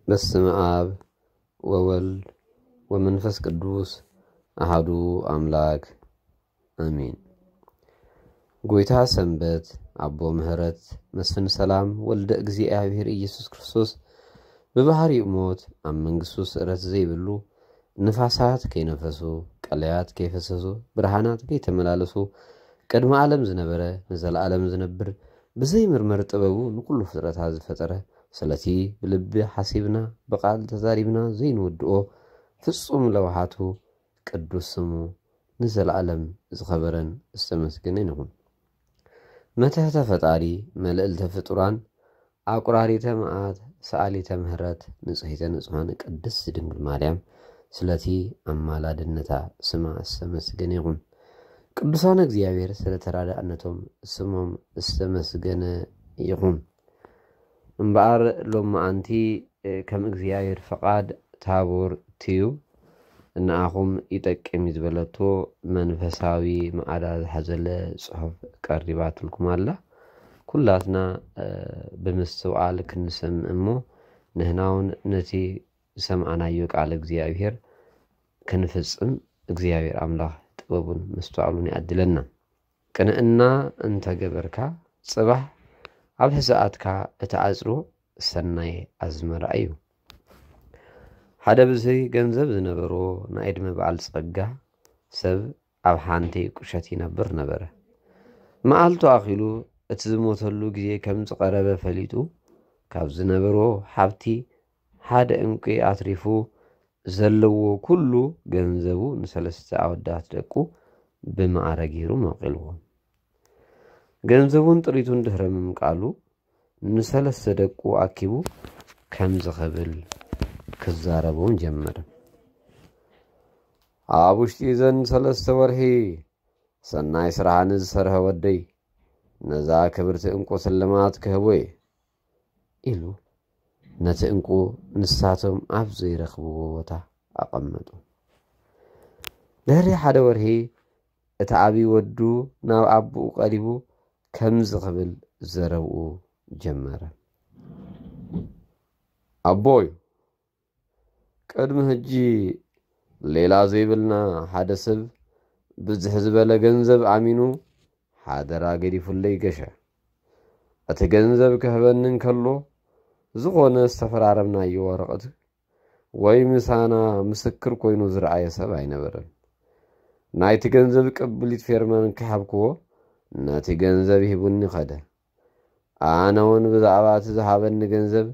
በስመ አብ ወወልድ ወመንፈስ ቅዱስ አሃዱ አምላክ አሜን። ጎይታ ሰንበት፣ አቦ ምህረት፣ መስፍን ሰላም፣ ወልደ እግዚኣብሔር ኢየሱስ ክርስቶስ ብባህሪኡ ሞት፣ ኣብ መንግስቱ ስእረት ዘይብሉ፣ ንፋሳት ከይነፈሱ፣ ቀለያት ከይፈሰሱ፣ ብርሃናት ከይተመላለሱ፣ ቅድሚ ዓለም ዝነበረ፣ ንዘለዓለም ዝነብር፣ ብዘይምርመር ጥበቡ ንኩሉ ፍጥረታት ዝፈጠረ፣ ስለቲ ብልቢ ሓሲብና፣ ብቃል ተዛሪብና ዘይንውድኦ ፍጹም ለውሃቱ ቅዱስ ስሙ ንዘለዓለም ዝኸበረን ዝተመስገነን ይኹን። መትሕተ ፈጣሪ፣ መልዕልተ ፍጡራን፣ ኣቁራሪተ መዓት፣ ሰኣሊተ ምህረት፣ ንጽሕተ ንጹሓን ቅድስት ድንግል ማርያም ስለቲ ኣማላድነታ ስማ ዝተመስገነ ይኹን። ቅዱሳን እግዚኣብሔር ስለ ተራዳእነቶም ስሞም ዝተመስገነ ይኹን። እምበኣር ሎማዓንቲ ከም እግዚኣብሔር ፈቓድ ታቦር ትዩ ንኣኹም ይጠቅም እዩ ዝበለቶ መንፈሳዊ መዓዳ ዝሓዘለ ጽሑፍ ቀሪባትልኩም ኣላ። ኩላትና ብምስትውዓል ክንሰምዕ እሞ ንሕና እውን ነቲ ዝሰምዓናዮ ቃል እግዚኣብሔር ክንፍጽም እግዚኣብሔር ኣምላኽ ጥበቡን ምስትውዓሉን ይኣድለና። ቅንዕና እንተገበርካ ጽባሕ ኣብ ሕዛኣትካ እቲ ዓጽዶ ሰናይ ኣዝመራ እዩ። ሓደ ብዝሒ ገንዘብ ዝነበሮ ናይ ዕድመ በዓል ጸጋ ሰብ ኣብ ሓንቲ ቁሸት ይነብር ነበረ። መዓልቱ ኣኺሉ እቲ ዝሞተሉ ግዜ ከም ዝቐረበ ፈሊጡ ካብ ዝነበሮ ሃብቲ ሓደ እንቂ ኣትሪፉ ዘለዎ ኩሉ ገንዘቡ ንሰለስተ ኣወዳት ደቁ ብማዕረ ገይሩ መቒልዎም። ገንዘቡን ጥሪቱን ድሕረ ምምቃሉ ንሰለስተ ደቁ ኣኪቡ ከምዚ ክብል ክዛረቦም ጀመረ። ኣብ ውሽጢ እዘን ሰለስተ ወርሒ ሰናይ ስራሓ ንዝሰርሐ ወደይ ነዛ ክብርቲ እንቁ ስልማት ክህቦ እየ ኢሉ ነቲ እንቁ ንሳቶም ኣብ ዘይረኽብዎ ቦታ ኣቐመጡ። ድሕሪ ሓደ ወርሒ እቲ ዓብዪ ወዱ ናብ ኣቦኡ ቀሪቡ ከምዚ ክብል ዘረብኡ ጀመረ። ኣቦይ፣ ቅድሚ ሕጂ ሌላ ዘይብልና ሓደ ሰብ ብዝሕ ዝበለ ገንዘብ ኣሚኑ ሓደራ ገዲፉለይ ገሸ። እቲ ገንዘብ ክህበኒ እንከሎ ዝኾነ ዝተፈራረምናዮ ወረቐት ወይ ምሳና ምስክር ኮይኑ ዝረኣየ ሰብ ኣይነበረን። ናይቲ ገንዘብ ቅብሊት ፌርማን ክሃብክዎ ነቲ ገንዘብ ሂቡኒ ኸደ። ኣነ እውን ብዛዕባ እቲ ዝሃበኒ ገንዘብ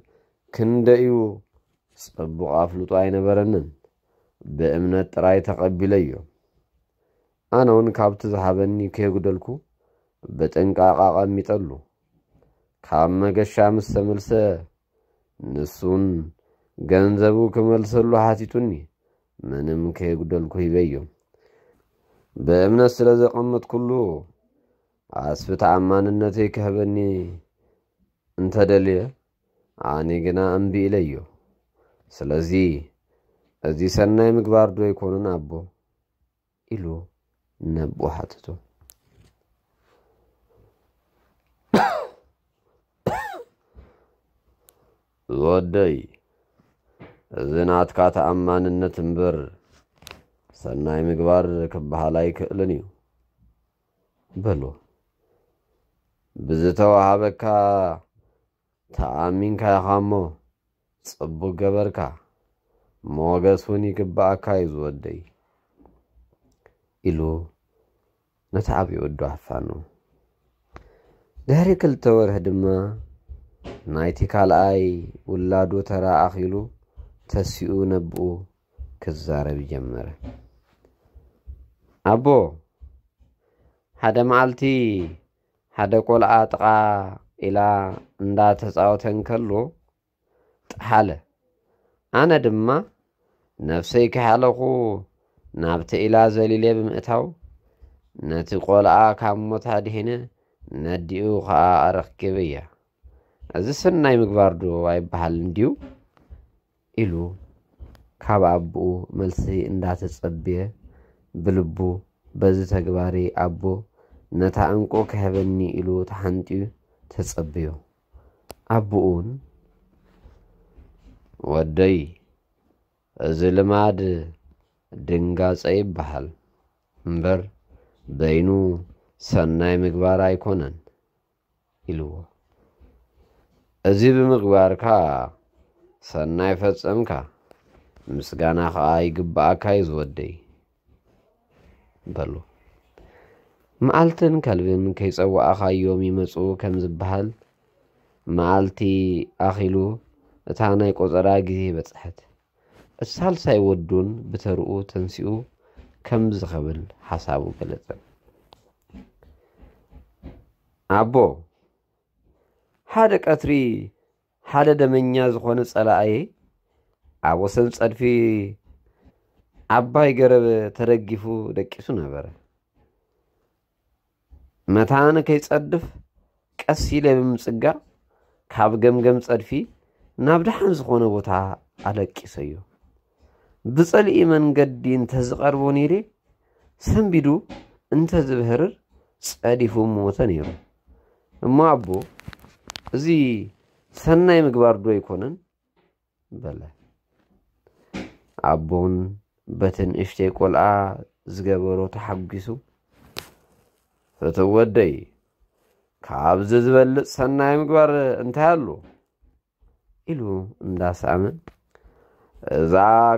ክንደዩ ጽቡቕ ኣፍልጦ ኣይነበረንን። ብእምነት ጥራይ ተቐቢለዮ። ኣነ እውን ካብቲ ዝሃበኒ ከየጉደልኩ ብጥንቃቐ ኣቐሚጠሉ። ካብ መገሻ ምስ ተመልሰ ንሱን ገንዘቡ ክመልሰሉ ሓቲቱኒ፣ ምንም ከየጉደልኩ ሂበዮ። ብእምነት ስለ ዘቐመጥኩሉ ኣስቢ ተኣማንነተይ ክህበኒ እንተደልየ፣ ኣነ ግና እምቢ ኢለዮ። ስለዚ እዚ ሰናይ ምግባር ዶ ኣይኮነን ኣቦ? ኢሉ ነቦ ሓተቶ። ዝወደይ፣ እዚ ናትካ ተኣማንነት እምበር ሰናይ ምግባር ክበሃል ኣይክእልን እዩ በሎ። ብዝተዋሃበካ ተኣሚንካ ኢኻ እሞ ጽቡቕ ገበርካ። ሞገስ እውን ይግብኣካ እዩ ዝወደይ ኢሉ ነቲ ዓብዪ ወዱ ኣፋኑ። ድሕሪ ክልተ ወርሒ ድማ ናይቲ ካልኣይ ውላዱ ተራ ኣኺሉ ተሲኡ ነብኡ ክዛረብ ጀመረ። ኣቦ፣ ሓደ መዓልቲ ሓደ ቆልዓ ጥቓ ኢላ እንዳተጻወተ እንከሎ ጠሓለ። ኣነ ድማ ነፍሰይ ከሓለኹ ናብቲ ኢላ ዘሊለ ብምእታው ነቲ ቆልዓ ካብ ሞት ኣድሒነ ነዲኡ ኸኣ ኣረኪበያ። እዚ ሰናይ ምግባር ዶ ኣይበሃልን ድዩ? ኢሉ ካብ ኣቦኡ መልሲ እንዳተጸብየ ብልቡ በዚ ተግባሪ ኣቦ ነታ ዕንቁ ክህበኒ ኢሉ ተሓንጥዩ ተጸብዮ። ኣቦኡን ወደይ፣ እዚ ልማድ ድንጋጸ ይበሃል እምበር፣ በይኑ ሰናይ ምግባር ኣይኮነን ኢልዎ። እዚ ብምግባርካ ሰናይ ፈጸምካ፣ ምስጋና ኸኣ ይግብኣካ እዩ ዝወደይ በሎ። መዓልትን ከልብን ከይጸዋእኻዮም ይመጹ ከም ዝበሃል፣ መዓልቲ ኣኺሉ እታ ናይ ቆጸራ ግዜ በጽሐት። እቲ ሳልሳይ ወዱን ብተርኡ ተንሲኡ ከምዚ ክብል ሓሳቡ ገለጸ። ኣቦ፣ ሓደ ቀትሪ ሓደ ደመኛ ዝኾነ ጸላኣየ ኣብ ወሰን ጸድፊ ዓባይ ገረብ ተደጊፉ ደቂሱ ነበረ። መታን ከይጸድፍ ቀስ ኢለ ብምጽጋ ካብ ገምገም ጸድፊ ናብ ደሓን ዝኾነ ቦታ ኣለቂሰዮ። ብጸልኢ መንገዲ እንተዝቐርቦ ነይረ ሰንቢዱ እንተዝብህርር ጸዲፉ ምሞተ ነይሩ። እሞ ኣቦ፣ እዚ ሰናይ ምግባር ዶ ኣይኮነን? በለ። ኣቦን በቲ ንእሽተይ ቆልዓ ዝገበሮ ተሓጒሱ፣ "ፍትው ወደይ፣ ካብዚ ዝበልጽ ሰናይ ምግባር እንታይ ኣሎ?" ኢሉ እንዳሰኣመ፣ "እዛ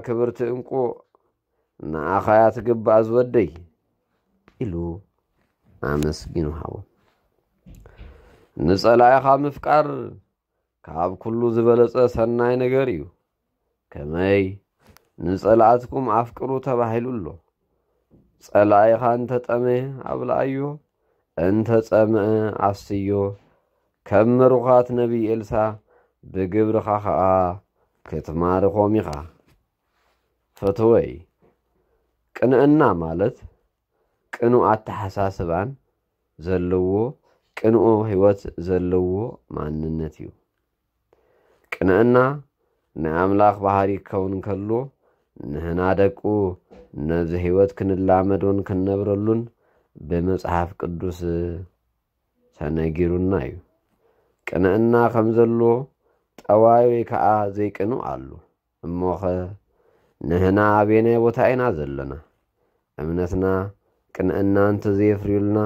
ክብርቲ እንቁ ንኣኻ እያ ትግባእ ዝወደይ" ኢሉ ኣመስጊኑ ሃቦ። ንጸላኢኻ ምፍቃር ካብ ኩሉ ዝበለጸ ሰናይ ነገር እዩ። ከመይ ንጸላእትኩም ኣፍቅሩ ተባሂሉ ኣሎ። ጸላኢኻ እንተጠመየ ኣብልኣዮ፣ እንተጸምአ ኣስትዮ፣ ከም ምሩኻት ነቢይ ኤልሳ ብግብርኻ ኸኣ ክትማርኾም ኢኻ። ፈተወይ፣ ቅንዕና ማለት ቅኑዕ ኣተሓሳስባን ዘለዎ ቅኑዕ ህይወት ዘለዎ ማንነት እዩ። ቅንዕና ናይ ኣምላኽ ባህሪ ክኸውን ከሎ፣ ንህና ደቁ ነዚ ህይወት ክንላመዶን ክንነብረሉን ብመጽሓፍ ቅዱስ ተነጊሩና እዩ። ቅንዕና ከም ዘሎ ጠዋይ ወይ ከኣ ዘይቅኑዕ ኣሎ። እሞኸ ንህና ኣበየናይ ቦታ ኢና ዘለና? እምነትና ቅንዕና እንተዘየፍርዩልና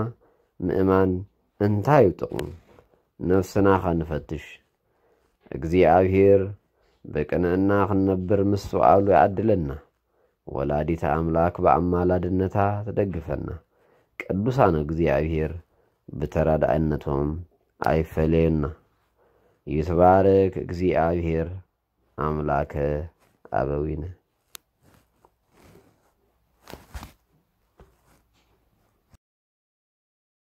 ምእማን እንታይ እዩ ጥቕሙ? ነፍስና ኸ ንፈትሽ። እግዚኣብሔር ብቅንዕና ክንነብር ምስትውዓሉ ይዓድለና። ወላዲተ ኣምላክ ብኣማላድነታ ትደግፈና። ቅዱሳን እግዚኣብሔር ብተራዳእነቶም ኣይፈለየና። ይትባረክ እግዚኣብሔር ኣምላከ ኣበዊነ።